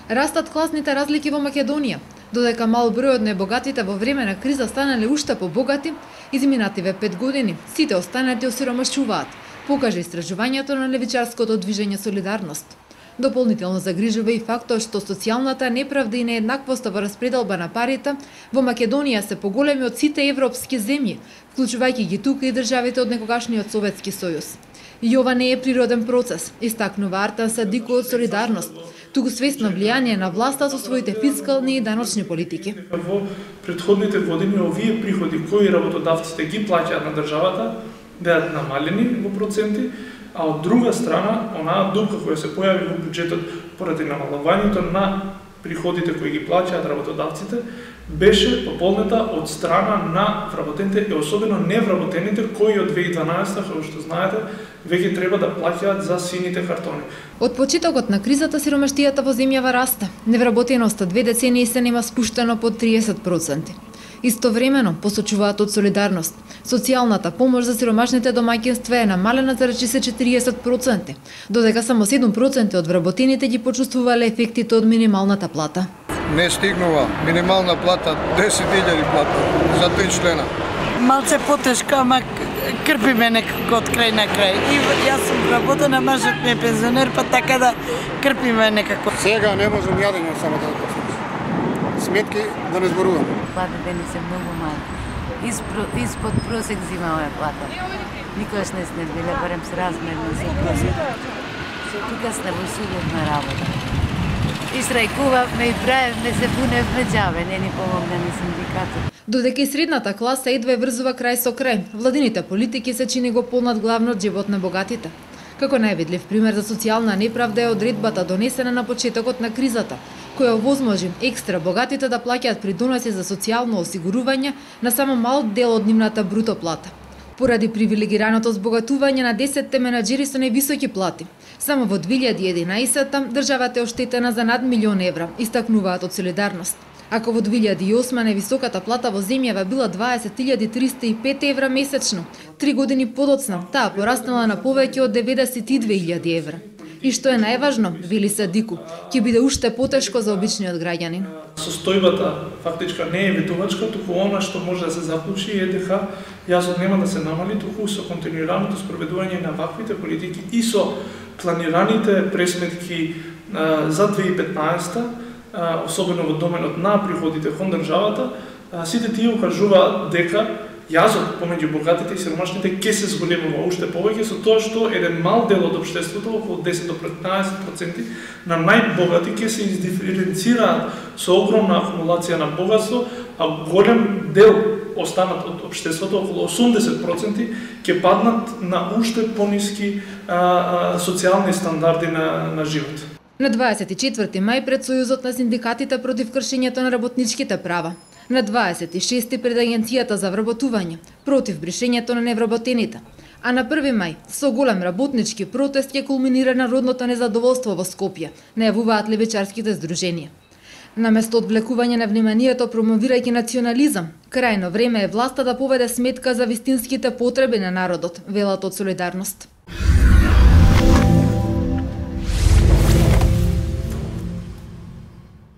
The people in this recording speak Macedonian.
Растат класните разлики во Македонија, додека мал број од небогатите во време на криза станале уште побогати, изминативе 5 години сите останати осиромашуваат, покажа истражувањето на левичарското движење Солидарност. Дополнително загрижува и фактот што социјалната неправда и нееднаквоста во распределба на парите во Македонија се поголеми од сите европски земји, вклучувајќи ги тука и државите од некогашниот Советски сојуз. И ова не е природен процес, истакнува Артан Садико од Солидарност, туку свесно влијание на власта со своите фискални и даночни политики. Во претходните години овие приходи кои работодавците ги плаќаат на државата беат намалени во проценти, а од друга страна, онаа дупка која се појави во буџетот поради намалувањето на приходите кои ги плаќаат работодавците, беше пополнета од страна на вработените и особено невработените кои од 2012, како што знаете, веќе треба да плаќаат за сините картони. Од почетокот на кризата сиромаштијата во земјава расте. Невработеноста 2 децении се нема спуштено под 30%. Истовремено, посочуваат од Солидарност, социјалната помош за сиромашните домаќинства е намалена за речиси 40%, додека само 7% од вработените ги почувствувале ефектите од минималната плата. Не стигнува минимална плата 10.000 плата за 3 члена. Малце потешка, ама крпиме некако од крај на крај. И јас сум вработена, мажот ми е пензионер, па така да крпиме некако. Сега не можам јадење само да го сметки да не зборувам. Платите ни се многу мали. Испод просек зимава плата. Никогаш не сме биле барем с размерно со просек. Тука сме во судовна работа. И штрајкувавме и правевме се буневме џабе, не ни помогна ни синдикатот. Додека и средната класа едва врзува крај со крај, владините политики се чини го полнат главно од живот на богатите. Како највидлив пример за социјална неправда е одредбата донесена на почетокот на кризата, која овозможи екстра богатите да плаќаат придоноси за социјално осигурување на само мал дел од нивната бруто плата. Поради привилегираното збогатување на 10 менаџери со највисоки плати, само во 2011 државата е оштетена за над €1.000.000, истакнуваат од Солидарност. Ако во 2008 највисоката плата во земјава била €20.305 месечно, 3 години подоцна таа пораснала на повеќе од €92.000. И што е најважно, вели Садико, ќе биде уште потешко за обичниот граѓанин. Состојбата фактичка не е ветувачка, туку она што може да се заклучи е дека јазот нема да се намали, туку со континуираното спроведување на ваквите политики и со планираните пресметки за 2015, особено во доменот на приходите кон државата, сите тие укажуваат дека јазот помеѓу богатите и сиромашните ќе се зголемува уште повеќе со тоа што еден мал дел од општеството, околу 10 до 15% на најбогати ќе се издиференцираат со огромна акумулација на богатство, а голем дел останат од општеството, околу 80%, ќе паднат на уште пониски социјални стандарди на живот. На 24 мај пред Сојузот на синдикатите против кршењето на работничките права. На 26 пред Агенцијата за вработување против бришењето на невработените. А на 1 мај со голем работнички протест ќе кулминира народното незадоволство во Скопје, најавуваат левичарските здруженија. Наместо одвлекување на вниманието промовирајќи национализам, крајно време е власта да поведе сметка за вистинските потреби на народот, велат од Солидарност.